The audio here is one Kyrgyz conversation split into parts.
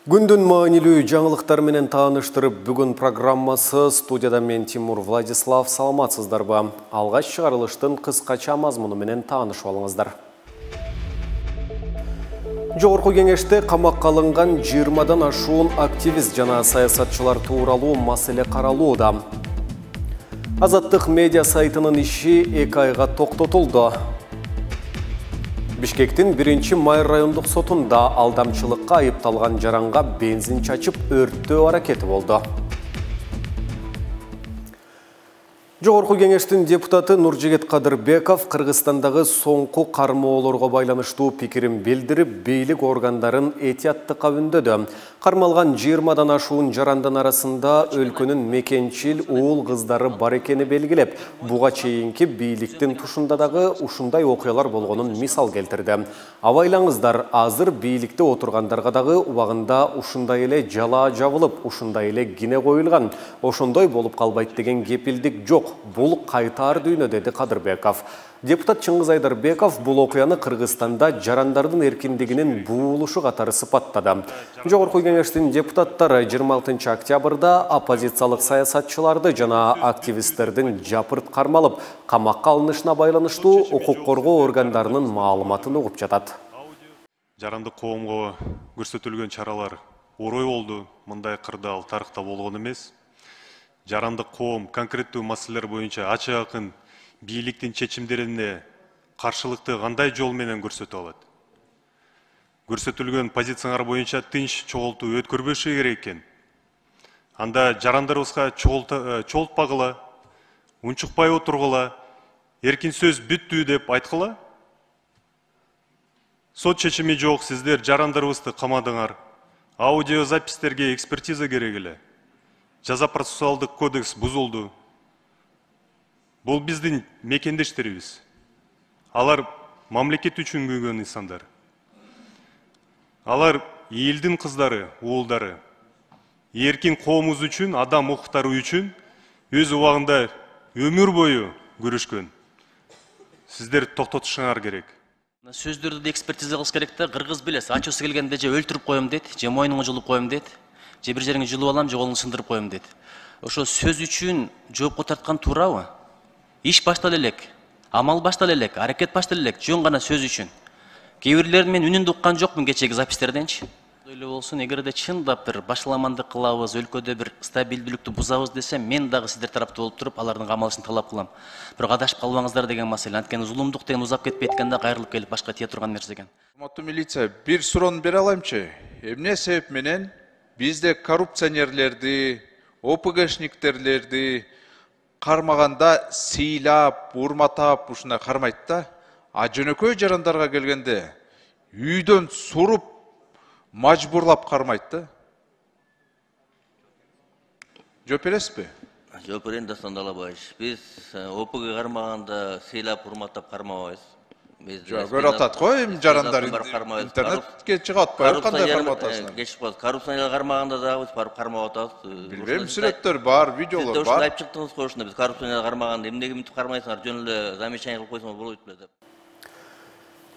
Күндүн маанилүү жаңылыктар менен тааныштырып, бүгүн программасы студияда мен Тимур Владислав. Саламатсыздарбы? Алгач чыгарылыштын кыскача мазмуну менен таанышып алыңыздар. Жогорку кеңеште камакка алынган 20-дан ашуун активист жана саясатчылар тууралуу маселе каралууда. Азаттык медиа сайтынын иши 2 айга токтотулду. Бишкектин 1-Майыр райондук сотунда алдамчылыкка айыпталган жаранга бензин чачып өрттөө аракети болду. Жогорку кеңештин депутаты Нуржигит Кадырбеков Кыргызстандагы соңку кармоолорго байланыштуу пикирин билдирип, бийлик органдарын этияттыкка үндөдү. Кармалган 20-дан ашуун жарандын арасында өлкөнүн мекенчил уул кыздары бар экени белгилеп, буга чейинки бийликтин тушунда дагы ушундай окуялар болгонун мисал келтирди. Абайлаңыздар, азыр бийликте отургандарга дагы убагында ушундай эле жала жабылып, ушундай эле кине коюлган. Ошондой болуп калбайт деген кепилдик жок. Бул кайтар дүйнө, деди Кадырбеков. Депутат Чыңгыз Айдарбеков бул окуяны Кыргызстанда жарандардын эркиндигинин буулушу катары сыпаттады. Жогорку кеңештин депутаттары 26 октябрда оппозициялык саясатчыларды жана активисттердин жапырт кармалып, камакка алынышына байланыштуу укук коргоо органдарынын маалыматын угуп жатат. Жарандык коомго көрсөтүлгөн чаралар орой болду. Мындай кырдаал тарыхта болгон эмес. Жарандык коом конкреттүү маселелер боюнча ачык-акын бийликтин чечимдерине каршылыкты кандай жол менен көрсөтө алат? Көрсөтүлгөн позициялар боюнча тынч чогултуу өткөрбөшү керек экен. Анда жарандарыбызга чогултпагыла, унчукпай отургула, эркин сөз бүттү деп айткыла. Сот чечими жок, сиздер жарандарыбызды камадыңар. Аудиозапистерге экспертиза керек эле. Жаза процессуалдык кодекс бузулду. Бул биздин мекендештерибиз. Алар мамлекет үчүн күйгөн инсандар. Алар элдин кыздары, уулдары. Эркин коомубуз үчүн, адам укуктары үчүн өз убагында өмүр бою күрөшкөн. Сиздер токтотушуңар керек. Сөздөрдү экспертиза кылыш керек да, кыргыз билес, ачуусу келгенде же өлтүрүп коем дейт, же мойнуңа жулуп коем дейт. Же бир жериңе жылып алам, же колуңду сындырып коем дейт. Ошо сөз үчүн жоопко тарткан туурабы? Иш баштала элек, амал баштала элек, аракет баштала элек, жөн гана сөз үчүн. Кээ бирлерин мен үнүндү уккан жокмун кечеги запистерденчи. Эле болсун, эгерде чындап бир башаламандык кылабыз, өлкөдө бир стабилдүүлүктү бузабыз десем, мен дагы сиздер тарапта болуп туруп, алардын камалышын талап кылам. Бирок адашып калбаңыздар деген маселе. Анткени зулумдук деген узап кетпейт экен да, кайрылып келип башка тие турган нерсе экен. Урматтуу милиция, бир суроону бере алаймчы? Эмне себеп менен бизде коррупционерлерди, ОПГшниктерлерди кармаганда сыйлап, урматап ушундай кармайт да, а жөнөкөй жарандарга келгенде үйдөн суруп, мажбурлап кармайт да? Жооп бересизби? Жооп берейин, Дастан Далабаевич. Биз ОПГ кармаганда сыйлап, урматтап кармабайбыз. Жок, көрүп атат го, жарандар интернетке чыгып атпайбы, кандай карматасыңар? Кечип калат. Коррупционер кармаганда дагы биз барып кармап атабыз. Билбейм, сүрөттөр бар, видеолор бар. Айтып чыктыңыз го ушунда, биз коррупционер кармаганда эмнеге мынтип кармайсыңар, жөн эле замечание кылып койсоңор болбойт беле деп.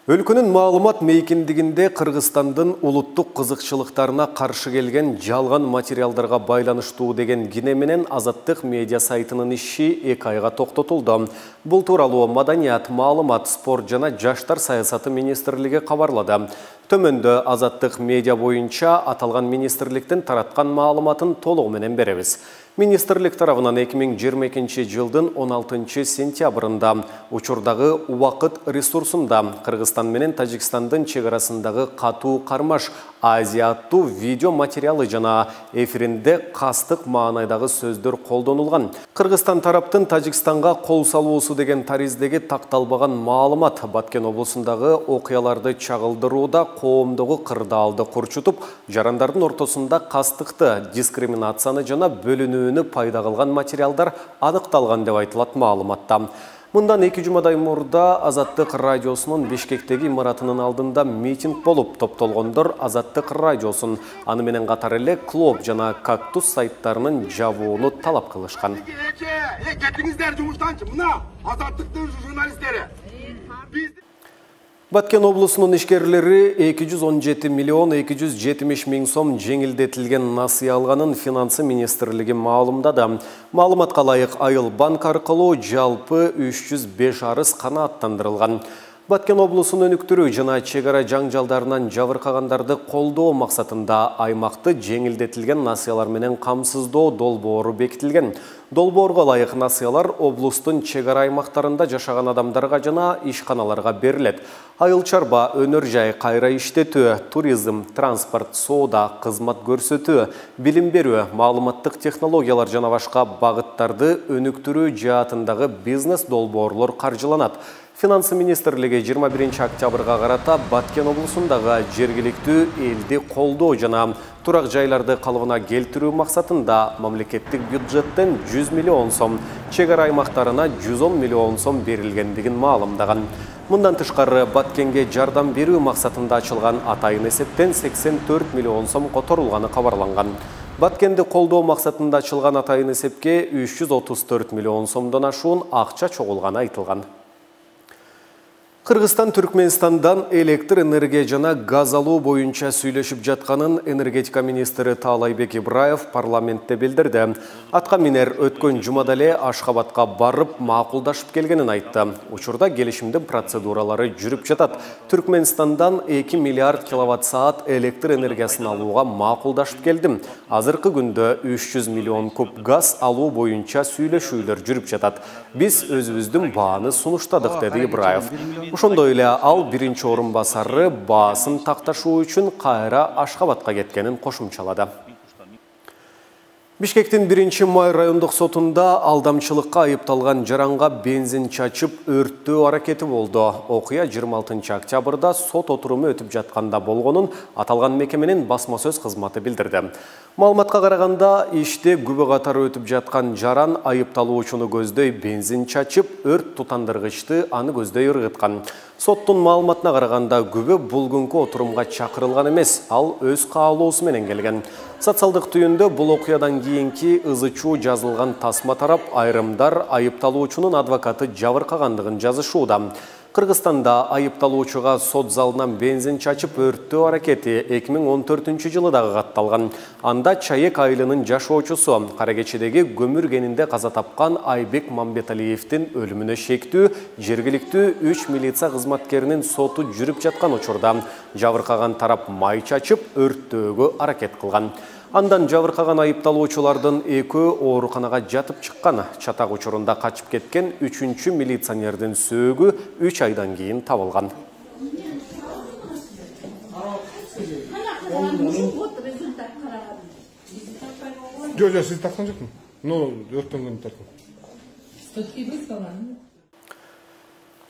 Өлкөнүн маалымат мейкиндигинде Кыргызстандын улуттук кызыкчылыктарына каршы келген жалган материалдарга байланыштуу деген кине менен Азаттык медиа сайтынын иши 2 айга токтотулду. Бул тууралуу Маданият, маалымат, спорт жана жаштар саясаты министрлиги кабарлады. Төмөндө Азаттык медиа боюнча аталган министрликтин тараткан маалыматын толугу менен беребиз. Министрлик тарабынан 2022 жылдын 16 сентябрында учурдагы убакыт ресурсунда Кыргызстан менен Тажикстандын чек арасындагы катуу кармаш Азия аттуу видео материалы жана эфиринде кастык маанайдагы сөздөр колдонулган. Кыргызстан тараптын Тажикстанга кол салуусу деген тариздеги такталбаган маалымат Баткен облусундагы окуяларды чагылдырууда коомдогу кырдаалды курчутуп, жарандардын ортосунда кастыкты, дискриминацияны жана бөлүнүүнү пайда кылган материалдар аныкталган деп айтылат маалыматта. Мындан 2 жумадай мурда Азаттык радиосунун Бишкектеги имаратынын алдында митинг болуп, топтолгондор Азаттык радиосун, аны менен катар эле Клоп жана Кактус сайттарынын жабууну талап кылышкан. Кетиңиздер жумуштанчы, мына Азаттыктын журналисттери. Баткен облусунун ишкерлери 217 миллион 270 миң сом жеңилдетилген насыя алганын Финансы министрлиги маалымдады. Маалыматка ылайык Айыл банк аркылуу жалпы 305 арыз канааттандырылган. Баткен облусунун өнүктүрүү жана чек ара жаңжалдарынан жабыркагандарды колдоо максатында аймакты жеңилдетилген насыялар менен камсыздоо долбоору бекитилген. Долбоорго ылайык насыялар облустун чек ара аймактарында жашаган адамдарга жана ишканаларга берилет. Айыл чарба, өнөр жай, кайра иштетүү, туризм, транспорт, соода, кызмат көрсөтүү, билим берүү, маалыматтык технологиялар жана башка багыттарды өнүктүрүү жаатындагы бизнес долбоорлор каржыланат. Финансы министрлиги 21 октябрга карата Баткен облусундагы жергиликтүү элди колдоо жана турак жайларды калыбына келтирүү максатында мамлекеттик бюджеттен 100 миллион сом, чек ара аймактарына 110 миллион сом берилгендигин маалымдаган. Мындан тышкары Баткенге жардам берүү максатында ачылган атайын эсептен 84 миллион сом которулганы кабарланган. Баткенди колдоо максатында ачылган атайын эсепке 334 миллион сомдон ашуун акча чогулганы айтылган. Кыргызстан Түркменистандан электр энергия жана газ алуу боюнча сүйлөшүп жатканын энергетика министри Таалайбек Ибраев парламентте билдирди. Атка минер өткөн жумада эле Ашхабадка барып макулдашып келгенин айтты. Учурда келишимдин процедуралары жүрүп жатат. Түркменистандан 2 миллиард киловатт-саат электр энергиясын алууга макулдашып келдим. Азыркы күндө 300 миллион куб газ алуу боюнча сүйлөшүүлөр жүрүп жатат. Биз өзүбүздүн бааны сунуштадык, деди Ибраев. Ошондой эле ал биринчи орун басары баасын такташуу үчүн кайра Ашхабадка кеткенин кошумчалады. Бишкектин 1-май райондук сотунда алдамчылыкка айыпталган жаранга бензин чачып өрттөө аракети болду. Окуя 26 октябрда сот отуруму өтүп жатканда болгонун аталган мекеменин басма сөз кызматы билдирди. Маалыматка караганда, иште күбө катары өтүп жаткан жаран айыпталуучуну көздөй бензин чачып, өрт тутандыргычты аны көздөй ыргыткан. Соттун маалыматына караганда, күбө бул күнкү отурумга чакырылган эмес, ал өз каалоосу менен келген. Социалдык түйүндө бул окуядан кийинки ызы-чуу жазылган тасма тарап, айрымдар айыпталуучунун адвокаты жабыркагандыгын жазышууда. Кыргызстанда айыпталуучуга сот залынан бензин чачып өрттөө аракети 2014-жылы дагы катталган. Анда Чаек айылынын жашоочусу кара кечедеги көмүр кенинде каза тапкан Айбек Мамбеталиевдин өлүмүнө шектүү жергиликтүү 3 милиция кызматкеринин соту жүрүп жаткан учурда жабыркаган тарап май чачып өрттөөгө аракет кылган. Андан жабыркаган айыпталуучулардын экөө ооруканага жатып чыккан. Чатак учурунда качып кеткен 3-чү милиционердин сөөгү 3 айдан кийин табылган. Жо, сиз таккан жокмун. Өрттөнгөн таркан.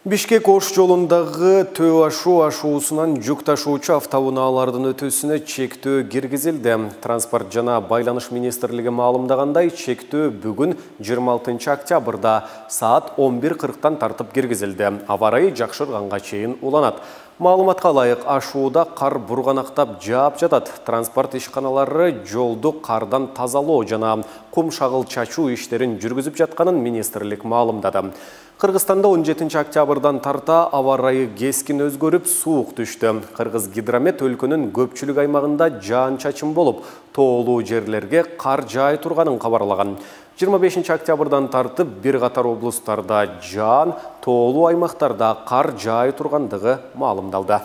Бишкек Ош жолундагы Төө ашуусунан жүк ташуучу автоунаалардын өтүүсүнө чектөө киргизилди. Транспорт жана байланыш министрлиги маалымдагандай, чектөө бүгүн 26 октябрда саат 11:40 тартып киргизилди. Аба ырайы жакшырганга чейин уланат. Маалыматка ылайык, ашууда кар бурганактап жаап жатат. Транспорт ишканалары жолду кардан тазалоо жана кум шагыл чачуу иштерин жүргүзүп жатканын министрлик маалымдады. Кыргызстанда 17 октябрдан тарта аба ырайы кескин өзгөрүп, суук түштү. Кыргыз гидромет өлкөнүн көпчүлүк аймагында жаан-чачын болуп, тоолуу жерлерге кар жаай турганын кабарлаган. 25 октябрдан тартып бир катар облустарда жаан, тоолуу аймактарда кар жаай тургандыгы маалымдалды.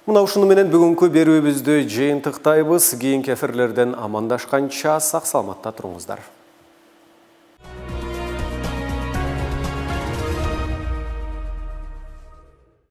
Мына ушуну менен бүгүнкү берүүбүздү жыйынтыктайбыз. Кийинки эфирлерден амандашканча сак саламатта туруңуздар.